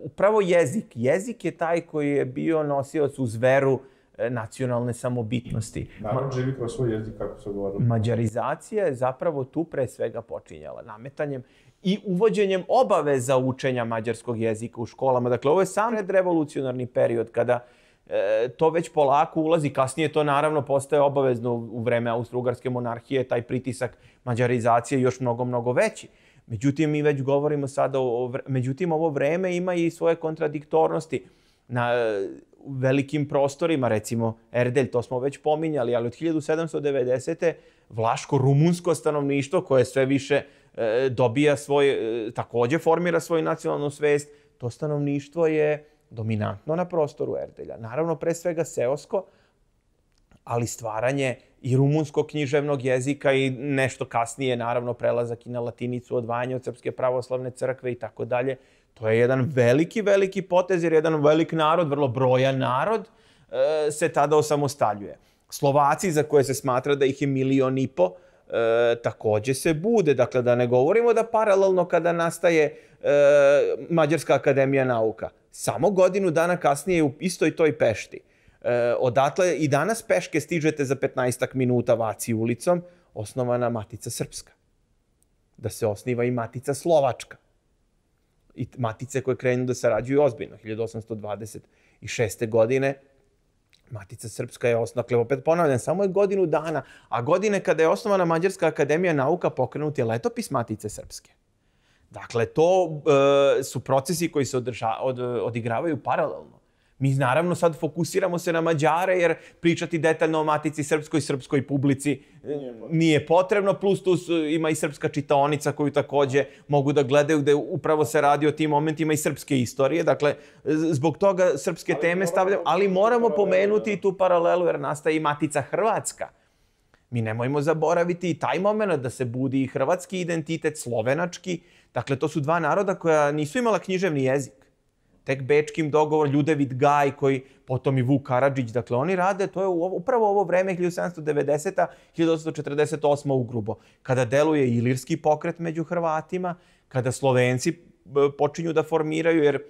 upravo jezik. Jezik je taj koji je bio nosioc uz veru e, nacionalne samobitnosti. Narod živi kroz svoj jezik, kako se govorilo. Mađarizacija je zapravo tu pre svega počinjala nametanjem i uvođenjem obaveza učenja mađarskog jezika u školama. Dakle, ovo je sam revolucionarni period kada e, to već polako ulazi. Kasnije to naravno postaje obavezno u vreme Austro-Ugarske monarhije, taj pritisak mađarizacije još mnogo, mnogo veći. Međutim, mi već govorimo sada o... Međutim, ovo vreme ima i svoje kontradiktornosti. Na velikim prostorima, recimo Erdelj, to smo već pominjali, ali od hiljadu sedamsto devedesete. vlaško-rumunsko stanovništvo koje sve više e, dobija svoj, e, također formira svoju nacionalnu svest, to stanovništvo je dominantno na prostoru Erdelja. Naravno, pre svega seosko, ali stvaranje i rumunskog književnog jezika i nešto kasnije, naravno, prelazak i na latinicu, odvajanje od Srpske pravoslavne crkve i tako dalje. To je jedan veliki, veliki potez, jer jedan velik narod, vrlo brojan narod, se tada osamostaljuje. Slovaci, za koje se smatra da ih je milion i po, također se bude. Dakle, da ne govorimo da paralelno kada nastaje Mađarska akademija nauka. Samo godinu dana kasnije u istoj toj Pešti. Odatle i danas peške stižete za petnaestak minuta Vaci ulicom, osnovana Matica Srpska. Da se osniva i Matica Slovačka. I matice koje krenu da sarađuju ozbiljno. hiljadu osamsto dvadeset šeste. godine Matica Srpska je osnovana, dakle, opet ponavljam, samo je godinu dana, a godine kada je osnovana Mađarska akademija nauka pokrenut je letopis Matice Srpske. Dakle, to e, su procesi koji se održa, od, odigravaju paralelno. Mi naravno sad fokusiramo se na Mađare jer pričati detaljno o Matici Srpskoj, srpskoj publici nije potrebno, plus tu su, ima i srpska čitaonica koju takođe mogu da gledaju gde upravo se radi o tim momentima i srpske istorije. Dakle, zbog toga srpske teme stavljamo, ali moramo pomenuti i tu paralelu jer nastaje i Matica Hrvatska. Mi nemojmo zaboraviti i taj moment da se budi i hrvatski identitet, slovenački. Dakle, to su dva naroda koja nisu imala književni jezik. Tek bečkim dogovor, Ljudevit Gaj, koji potom i Vuk Karadžić, dakle oni rade, to je upravo ovo vreme hiljadu sedamsto devedeseta do hiljadu osamsto četrdeset osma ugrubo, kada deluje ilirski pokret među Hrvatima, kada Slovenci počinju da formiraju, jer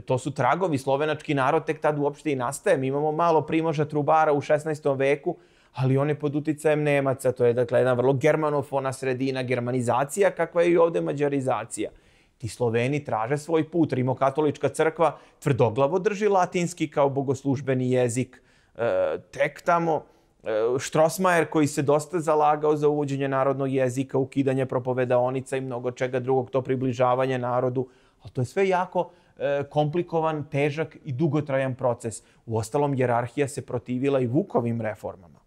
to su tragovi, slovenački narod tek tad uopšte i nastaje. Mi imamo malo Primoža Trubara u šesnaestom veku, ali on je pod uticajem Nemaca, to je dakle jedna vrlo germanofona sredina, germanizacija, kakva je i ovde mađarizacija. Ti Sloveni traže svoj put. Rimokatolička crkva tvrdoglavo drži latinski kao bogoslužbeni jezik. E, tek tamo e, Štrosmajer koji se dosta zalagao za uvođenje narodnog jezika, ukidanje propovedaonica i mnogo čega drugog, to približavanje narodu. Ali to je sve jako e, komplikovan, težak i dugotrajan proces. Uostalom, hijerarhija se protivila i Vukovim reformama.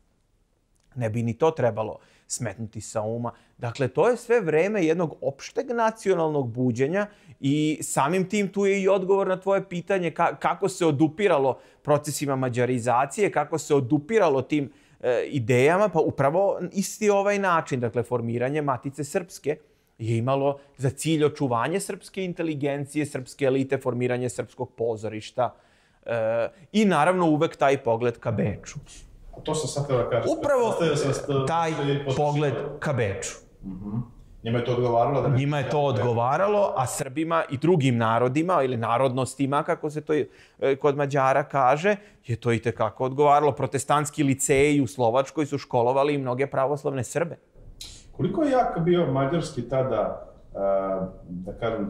Ne bi ni to trebalo smetnuti sa uma. Dakle, to je sve vreme jednog opšteg nacionalnog buđenja i samim tim tu je i odgovor na tvoje pitanje kako se odupiralo procesima mađarizacije, kako se odupiralo tim e, idejama, pa upravo isti ovaj način, dakle, formiranje Matice Srpske je imalo za cilj očuvanje srpske inteligencije, srpske elite, formiranje srpskog pozorišta e, i naravno uvek taj pogled ka Beču. A to sam sad da kažem. Upravo taj pogled ka Beču. Njima je to odgovaralo? Da Njima je to odgovaralo, a Srbima i drugim narodima ili narodnostima, kako se to kod Mađara kaže, je to i tekako odgovaralo. Protestantski liceji u Slovačkoj su školovali i mnoge pravoslavne Srbe. Koliko je jak bio mađarski tada, da kažem,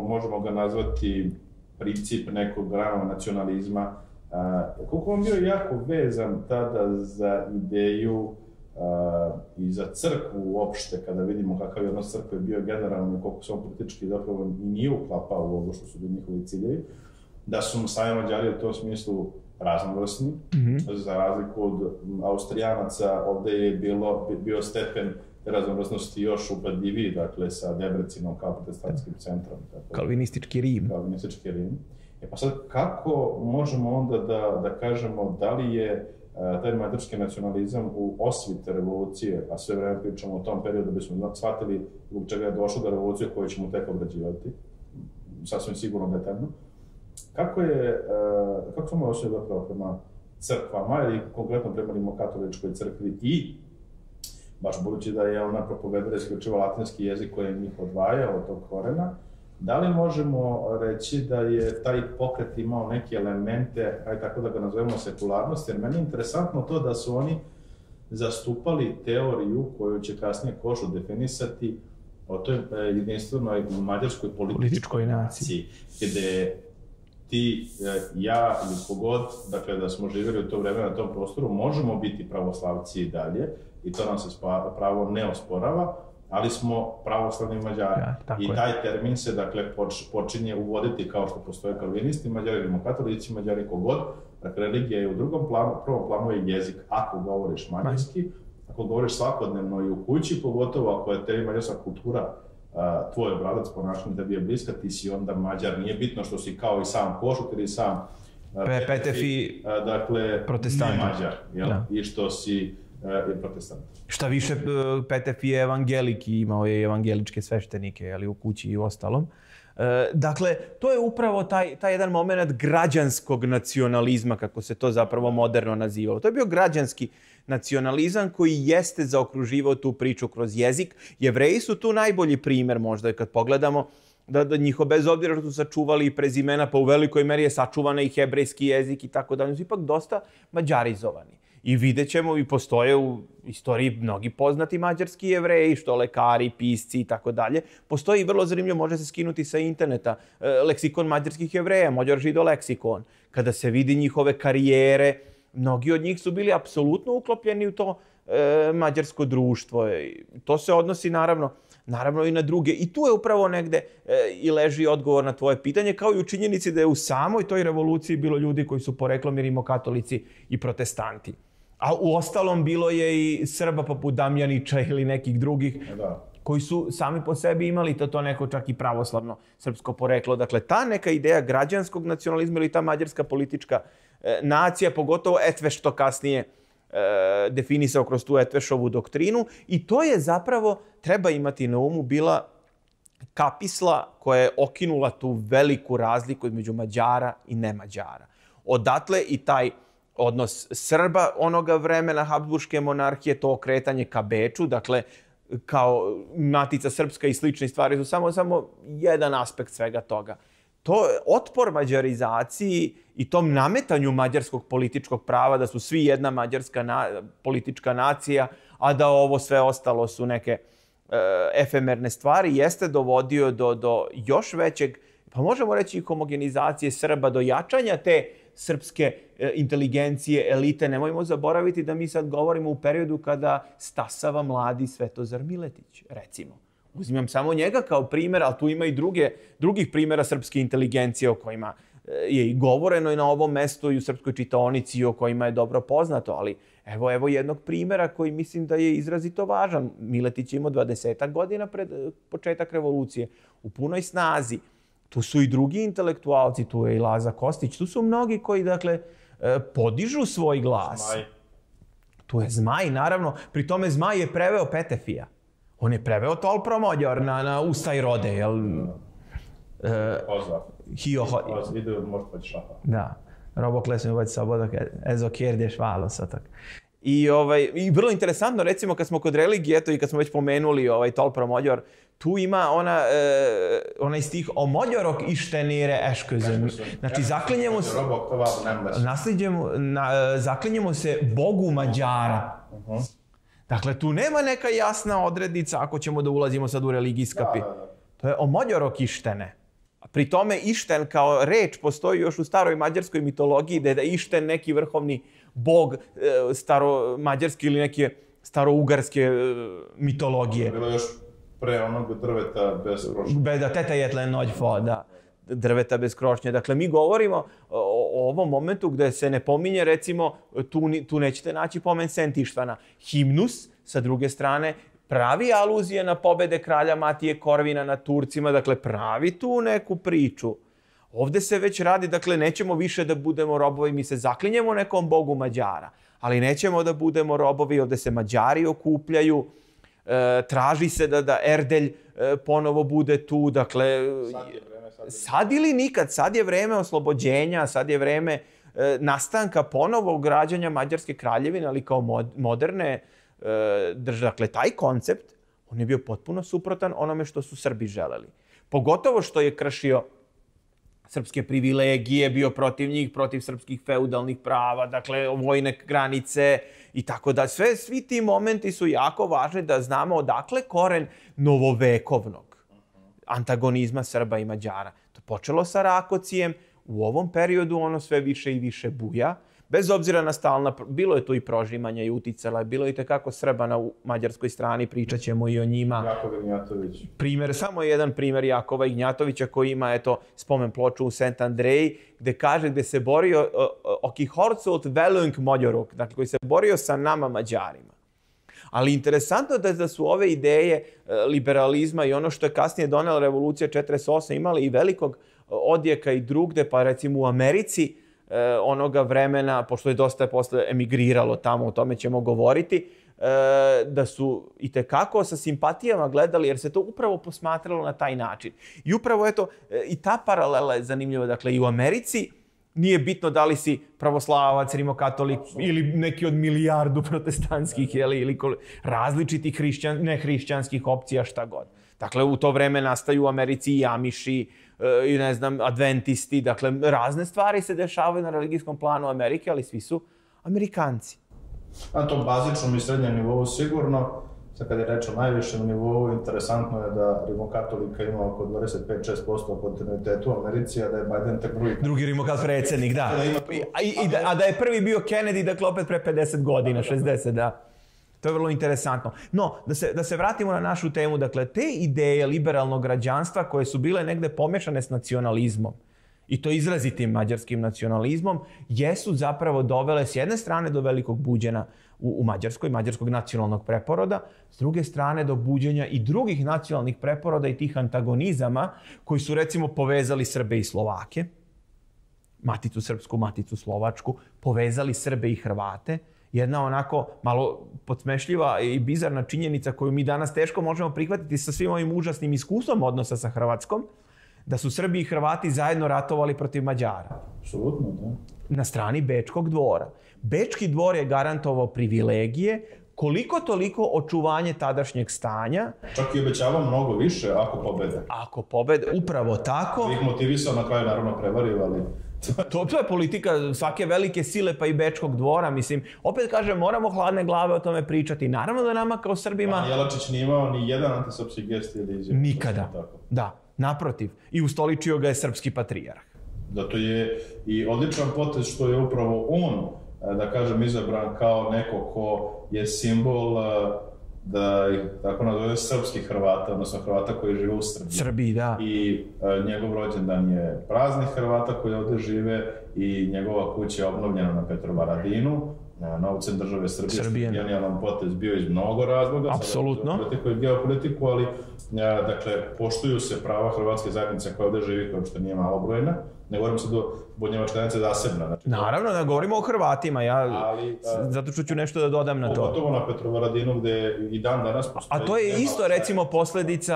možemo ga nazvati princip nekog ranog nacionalizma, Uh, koliko on bio jako vezan tada za ideju uh, i za crkvu uopšte, kada vidimo kakav je odnos crkve bio generalno i koliko se on politički zapravo i nije uklapao u ovo što su bili njihovi ciljevi, da su sami Mađari u tom smislu raznovrsni. Mm-hmm. Za razliku od Austrijanaca, ovde je bilo, bio stepen raznovrsnosti još upadljiviji, dakle sa Debrecinom kao protestantskim centrom. Tako, Kalvinistički Rim. Kalvinistički Rim. E pa sad, kako možemo onda da, da kažemo da li je a, taj mađarski nacionalizam u osvite revolucije, a sve vreme pričamo o tom periodu da bismo shvatili zbog čega je došlo do revolucije koju ćemo tek obrađivati, sasvim sigurno detaljno. Kako je, a, kako smo osjećali zapravo prema crkvama ili konkretno prema rimokatoličkoj crkvi i baš budući da je ona propovedala isključivo latinski jezik koji je njih odvajao od tog korena, da li možemo reći da je taj pokret imao neke elemente, aj tako da ga nazovemo sekularnosti, jer meni je interesantno to da su oni zastupali teoriju koju će kasnije Košo definisati o toj jedinstvenoj mađarskoj političkoj naciji, gde ti, ja ili kogod, dakle da smo živjeli u to vreme na tom prostoru, možemo biti pravoslavci i dalje, i to nam se pravo ne osporava, ali smo pravoslavni Mađari. Ja, I taj je. termin se, dakle, počinje uvoditi kao što postoje kalvinisti, Mađari, rimokatolici, Mađari, kogod. Dakle, religija je u drugom planu, u prvom planu je jezik, ako govoriš mađarski, ako govoriš svakodnevno i u kući, pogotovo ako je tebi mađarska kultura, a, tvoj obrazac ponašanja tebi je bliska, ti si onda Mađar. Nije bitno što si kao i sam Košut ili sam Pe, Petefi, a, dakle, protestant. Ne Mađar, jel? Da. I što si je protestant. Šta više, Petef je evangelik i imao je evangeličke sveštenike, ali u kući i u ostalom. Dakle, to je upravo taj, taj jedan moment građanskog nacionalizma, kako se to zapravo moderno nazivalo. To je bio građanski nacionalizam koji jeste zaokruživao tu priču kroz jezik. Jevreji su tu najbolji primer možda kad pogledamo da, da njiho, bez obzira što su sačuvali i prezimena, pa u velikoj meri je sačuvana i hebrejski jezik i tako da, su ipak dosta mađarizovani. I vidjet ćemo, i postoje u istoriji mnogi poznati mađarski Jevreji, što lekari, pisci i tako dalje. Postoji i vrlo zanimljivo, može se skinuti sa interneta, leksikon mađarskih Jevreja, Mađar žido leksikon. Kada se vidi njihove karijere, mnogi od njih su bili apsolutno uklopljeni u to e, mađarsko društvo. To se odnosi naravno naravno i na druge. I tu je upravo negde e, i leži odgovor na tvoje pitanje, kao i u činjenici da je u samoj toj revoluciji bilo ljudi koji su poreklom i rimokatolici i protestanti. A u ostalom bilo je i Srba poput Damjanića ili nekih drugih, da, koji su sami po sebi imali to, to neko čak i pravoslavno srpsko poreklo. Dakle, ta neka ideja građanskog nacionalizma ili ta mađarska politička e, nacija, pogotovo Etveš to kasnije e, definisao kroz tu Etvešovu doktrinu, i to je zapravo, treba imati na umu, bila kapisla koja je okinula tu veliku razliku između Mađara i nemađara. Odatle i taj odnos Srba onoga vremena Habsburške monarhije, to okretanje ka Beču, dakle, kao Matica Srpska i slične stvari su samo, samo jedan aspekt svega toga. To otpor mađarizaciji i tom nametanju mađarskog političkog prava da su svi jedna mađarska na, politička nacija, a da ovo sve ostalo su neke e, efemerne stvari, jeste dovodio do, do još većeg, pa možemo reći i homogenizacije Srba, do jačanja te srpske e, inteligencije, elite. Nemojmo zaboraviti da mi sad govorimo u periodu kada stasava mladi Svetozar Miletić, recimo. Uzimam samo njega kao primjer, ali tu ima i druge, drugih primjera srpske inteligencije o kojima je i govoreno i na ovom mestu i u srpskoj čitaonici i o kojima je dobro poznato, ali evo, evo jednog primjera koji mislim da je izrazito važan. Miletić je imao dvadesetak godina pred početak revolucije, u punoj snazi. Tu su i drugi intelektualci, tu je i Laza Kostić, tu su mnogi koji, dakle, podižu svoj glas. Zmaj. Tu je Zmaj, naravno. Pri tome Zmaj je preveo Petefija. On je preveo Tol Promođor na, na Usta i rode, jel? Pozdrav. Hio... Ide možda poći šaha. Da. Robokles mi vodi sabodak, ezo kjerdješ valo satak. I, ovaj, I vrlo interesantno, recimo, kad smo kod religije, eto i kad smo već pomenuli ovaj Tol Promođor, tu ima ona, e, onaj stih o Mođorok ištenire ešközön. Znači, zaklinjemo se, nasljeđemo, na, zaklinjemo se Bogu Mađara. Uh-huh. Dakle, tu nema neka jasna odrednica ako ćemo da ulazimo sad u religijska pi. Da, da, da. To je o Mođorok ištene. Pri tome išten kao reč postoji još u staroj mađarskoj mitologiji, da je išten neki vrhovni bog e, staro-mađarske ili neke staro-ugarske e, mitologije. Bilo još pre onog drveta bez krošnje. Be, da, teta jetle noć fo, da. Drveta bez krošnje. Dakle, mi govorimo o, o ovom momentu gde se ne pominje, recimo, tu, tu nećete naći pomen Sent Ištvana. Himnus, sa druge strane, pravi aluzije na pobede kralja Matije Korvina nad Turcima, dakle, pravi tu neku priču. Ovde se već radi, dakle, nećemo više da budemo robovi, mi se zaklinjemo nekom bogu Mađara, ali nećemo da budemo robovi, ovde se Mađari okupljaju, e, traži se da, da Erdelj e, ponovo bude tu, dakle, sad, je vreme, sad, je sad ili nikad, sad je vreme oslobođenja, sad je vreme e, nastanka ponovo građanja Mađarske kraljevine, ali kao mod, moderne e, države. Dakle, taj koncept, on je bio potpuno suprotan onome što su Srbi želeli. Pogotovo što je kršio srpske privilegije, bio protiv njih, protiv srpskih feudalnih prava, dakle, vojne granice i tako da. Sve, svi ti momenti su jako važni da znamo odakle koren novovekovnog antagonizma Srba i Mađara. To počelo sa Rakocijem, u ovom periodu ono sve više i više buja, bez obzira na stalna, bilo je tu i prožimanja i uticala, bilo je i tekako Srba na mađarskoj strani, pričat ćemo i o njima. Jakov Ignjatović. Primjer, samo jedan primjer Jakova Ignjatovića koji ima, eto, spomen ploču u Sent Andreji, gde kaže, gde se borio oki Horcolt Velung Mođoruk, dakle, koji se borio sa nama Mađarima. Ali interesantno je da su ove ideje liberalizma i ono što je kasnije donela revolucija četrdeset osam imali i velikog odjeka i drugde, pa recimo u Americi, onoga vremena, pošto je dosta posle emigriralo tamo, o tome ćemo govoriti, da su i tekako sa simpatijama gledali, jer se to upravo posmatralo na taj način. I upravo, eto, i ta paralela je zanimljiva. Dakle, i u Americi nije bitno da li si pravoslavac, rimokatolik ili neki od milijardu protestantskih, jeli, ili različitih hrišćan, nehrišćanskih opcija, šta god. Dakle, u to vreme nastaju u Americi i Amiši, i ne znam, adventisti, dakle, razne stvari se dešavaju na religijskom planu Amerike, ali svi su Amerikanci. Na tom bazičnom i srednjem nivou sigurno, sad kad je reč o najvišem nivou, interesantno je da rimokatolika ima oko dvadeset pet do šest posto kontinuitetu u Americi, a da je Biden tek drugi. Drugi rimokatol predsjednik, da. A, i, a da je prvi bio Kennedy, dakle, opet pre pedeset godina, šezdeset, da. To je vrlo interesantno. No, da se, da se vratimo na našu temu, dakle, te ideje liberalnog građanstva koje su bile negde pomešane s nacionalizmom, i to izrazitim mađarskim nacionalizmom, jesu zapravo dovele s jedne strane do velikog buđenja u, u Mađarskoj, mađarskog nacionalnog preporoda, s druge strane do buđenja i drugih nacionalnih preporoda i tih antagonizama koji su recimo povezali Srbe i Slovake, Maticu Srpsku, Maticu Slovačku, povezali Srbe i Hrvate. Jedna onako malo podsmešljiva i bizarna činjenica koju mi danas teško možemo prihvatiti sa svim ovim užasnim iskustvom odnosa sa Hrvatskom, da su Srbi i Hrvati zajedno ratovali protiv Mađara. Apsolutno, da. Na strani Bečkog dvora. Bečki dvor je garantovao privilegije, koliko toliko očuvanje tadašnjeg stanja. Čak i obećavao mnogo više ako pobede. Ako pobede, upravo tako. Ih motivisao, na kraju naravno prevario, ali... To, to je politika svake velike sile, pa i Bečkog dvora. Mislim, opet kažem, moramo hladne glave o tome pričati. Naravno da nama kao Srbima... A Jelačić nije imao ni jedan antisrpski gest ili izjavu. Nikada. Da, naprotiv. I ustoličio ga je srpski patrijarh. Zato je i odličan potez što je upravo on, da kažem, izabran kao neko ko je simbol, da ih tako nazove, srpskih Hrvata, odnosno Hrvata koji žive u Srbiji. Srbiji, da. I e, njegov rođendan je praznik Hrvata koji ovde žive i njegova kuća je obnovljena na Petrovaradinu, na novcem države Srbije. Srbije. Genijalan potez bio iz mnogo razloga. Apsolutno. Politiku i geopolitiku, ali e, dakle, poštuju se prava hrvatske zajednice koja ovde živi, koja uopšte nije malobrojna. Ne govorim sad o bunjevačka zajednica zasebna. Znači, naravno da govorimo o Hrvatima, ja ali, a, zato što ću nešto da dodam na to. Pogotovo na Petrovaradinu gde i dan danas postoji... A to je isto recimo posledica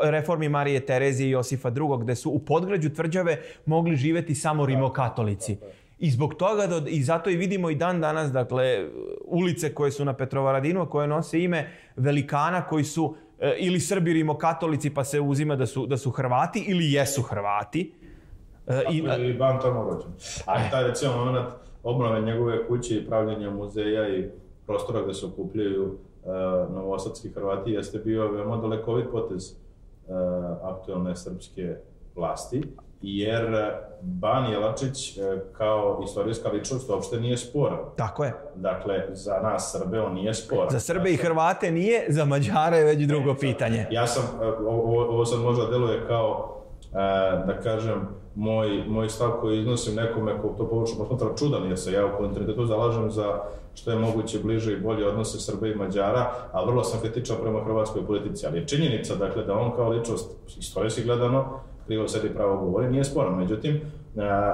reformi Marije Terezije i Josifa drugog, gde su u podgrađu tvrđave mogli živeti samo rimokatolici. I zbog toga, do, i zato i vidimo i dan danas, dakle, ulice koje su na Petrovaradinu, koje nose ime velikana koji su e, ili Srbi rimokatolici pa se uzima da su, da su Hrvati ili jesu Hrvati. Tako je i ban tamo rođen. Ali taj recimo moment obnove njegove kuće i pravljenja muzeja i prostora gde se okupljaju uh, novosadski Hrvati jeste bio veoma dalekovit potez uh, aktualne srpske vlasti, jer Ban Jelačić uh, kao istorijska ličnost uopšte nije sporan. Tako je. Dakle, za nas Srbe on nije sporan. Za Srbe i Hrvate nije, za Mađare je već drugo pitanje. Ja sam, uh, ovo, ovo sad možda deluje kao Uh, da kažem, moj, moj stav koji iznosim nekome ko to površno posmatra čudan, jer se ja u kontinuitetu zalažem za što je moguće bliže i bolje odnose Srbe i Mađara, a vrlo sam kritičan prema hrvatskoj politici. Ali je činjenica, dakle, da on kao ličnost, istorijski gledano, krivo sedi pravo govori, nije sporan. Međutim,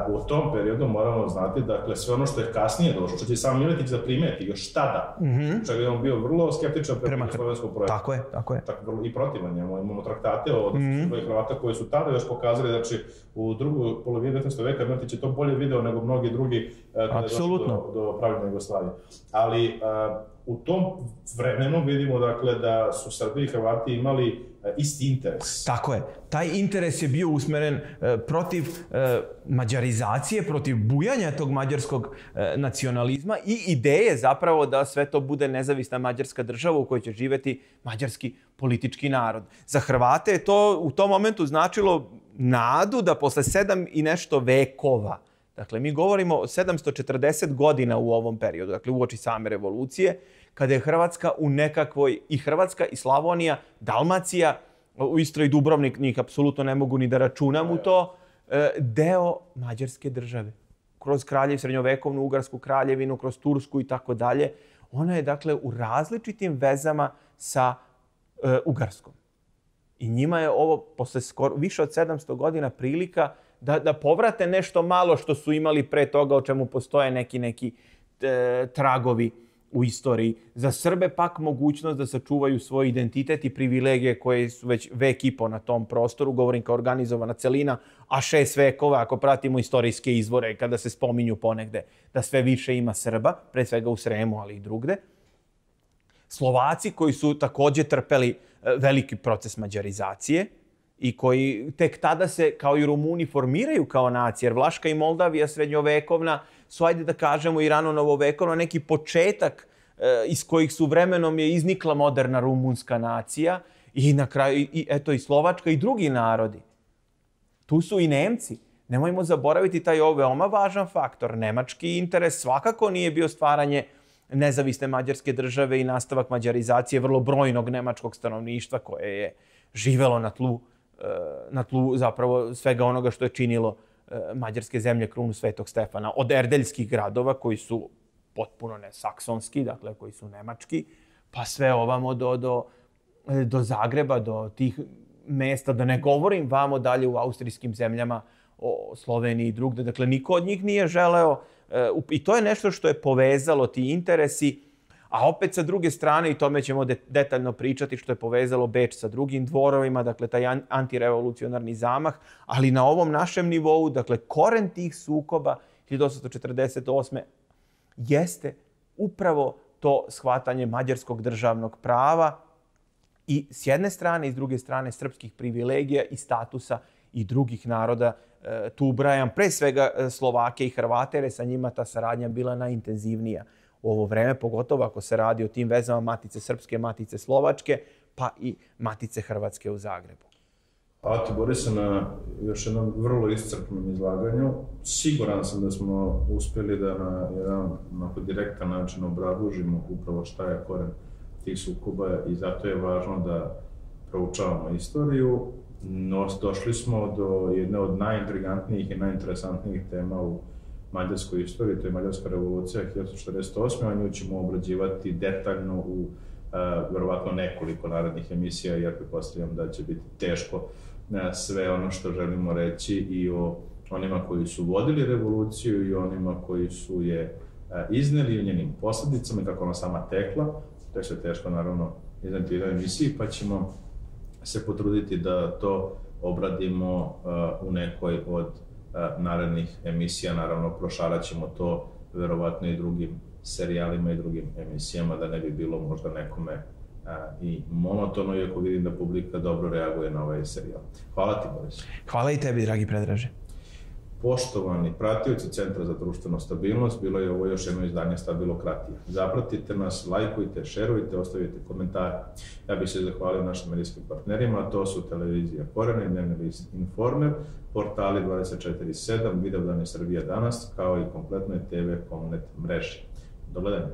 u tom periodu moramo znati, dakle, sve ono što je kasnije došlo, što će sam Miletić da primeti još tada, mm-hmm. čega je on bio vrlo skeptičan prema slovenskog projekta. Tako je, tako je. Tako, i protivan je. Imamo traktate od mm-hmm. Hrvata koji su tada još pokazali, znači, u drugoj polovini devetnaestog veka Miletić je to bolje video nego mnogi drugi kada je došlo do, do pravljena Jugoslavije. Ali uh, u tom vremenu vidimo, dakle, da su Srbi i Hrvati imali isti interes. Tako je. Taj interes je bio usmeren e, protiv e, mađarizacije, protiv bujanja tog mađarskog e, nacionalizma i ideje zapravo da sve to bude nezavisna mađarska država u kojoj će živeti mađarski politički narod. Za Hrvate je to u tom momentu značilo nadu da posle sedam i nešto vekova, dakle mi govorimo o sedamsto četrdeset godina u ovom periodu, dakle uoči same revolucije, kada je Hrvatska u nekakvoj, i Hrvatska i Slavonija, Dalmacija, u Istri i Dubrovnik, njih apsolutno ne mogu ni da računam u to, deo Mađarske države. Kroz kraljev, srednjovekovnu Ugarsku kraljevinu, kroz Tursku i tako dalje. Ona je, dakle, u različitim vezama sa e, Ugarskom. I njima je ovo, posle skoro, više od sedamsto godina, prilika da, da povrate nešto malo što su imali pre toga, o čemu postoje neki, neki e, tragovi u istoriji. Za Srbe pak mogućnost da sačuvaju svoj identitet i privilegije koje su već vek i po na tom prostoru, govorim kao organizovana celina, a šest vekova, ako pratimo istorijske izvore, kada se spominju ponegde, da sve više ima Srba, pre svega u Sremu, ali i drugde. Slovaci koji su takođe trpeli veliki proces mađarizacije i koji tek tada se, kao i Rumuni, formiraju kao nacije, jer Vlaška i Moldavija srednjovekovna su, ajde da kažemo, i rano novovekovna, neki početak e, iz kojih su vremenom je iznikla moderna rumunska nacija i na kraju, i, eto, i Slovačka i drugi narodi. Tu su i Nemci. Nemojmo zaboraviti taj ovo veoma važan faktor. Nemački interes svakako nije bio stvaranje nezavisne mađarske države i nastavak mađarizacije vrlo brojnog nemačkog stanovništva koje je živelo na tlu, na tlu zapravo svega onoga što je činilo mađarske zemlje krunu Svetog Stefana. Od erdeljskih gradova koji su potpuno ne saksonski, dakle koji su nemački, pa sve ovamo do, do, do Zagreba, do tih mesta, da ne govorim vamo dalje u austrijskim zemljama, o Sloveniji i drugde. Dakle, niko od njih nije želeo, i to je nešto što je povezalo ti interesi, a opet sa druge strane, i tome ćemo detaljno pričati, što je povezalo Beč sa drugim dvorovima, dakle, taj antirevolucionarni zamah, ali na ovom našem nivou, dakle, koren tih sukoba hiljadu osamsto četrdeset osme jeste upravo to shvatanje mađarskog državnog prava i s jedne strane i s druge strane srpskih privilegija i statusa i drugih naroda. Tu ubrajam pre svega Slovake i Hrvate, jer je sa njima ta saradnja bila najintenzivnija u ovo vreme, pogotovo ako se radi o tim vezama Matice Srpske, Matice Slovačke, pa i Matice Hrvatske u Zagrebu. Hvala ti, Borise, na još jednom vrlo iscrpnom izlaganju. Siguran sam da smo uspjeli da na jedan onako direktan način obrazložimo upravo šta je koren tih sukoba i zato je važno da proučavamo istoriju. No, došli smo do jedne od najintrigantnijih i najinteresantnijih tema u mađarskoj istoriji, to je Mađarska revolucija hiljadu osamsto četrdeset osme. A nju ćemo obrađivati detaljno u uh, verovatno nekoliko narednih emisija, jer pretpostavljam da će biti teško uh, sve ono što želimo reći i o onima koji su vodili revoluciju i onima koji su je uh, izneli u njenim posljedicama i kako ona sama tekla. To je sve teško, naravno, izneti u jednoj emisiji, pa ćemo se potruditi da to obradimo uh, u nekoj od uh, narednih emisija. Naravno, prošarat ćemo to verovatno i drugim serijalima i drugim emisijama, da ne bi bilo možda nekome uh, i monotono, iako vidim da publika dobro reaguje na ovaj serijal. Hvala ti, Boris. Hvala i tebi, dragi Predraže. Poštovani pratioci Centra za društvenu stabilnost, bilo je ovo još jedno izdanje Stabilokratija. Zapratite nas, lajkujte, šerujte, ostavite komentare. Ja bih se zahvalio našim medijskim partnerima, to su televizija Koren, dnevni list Informer, portali dvadeset četiri sedam, Vidovdan Srbija danas, kao i kompletnoj te ve Komnet mreži. Do gledanja.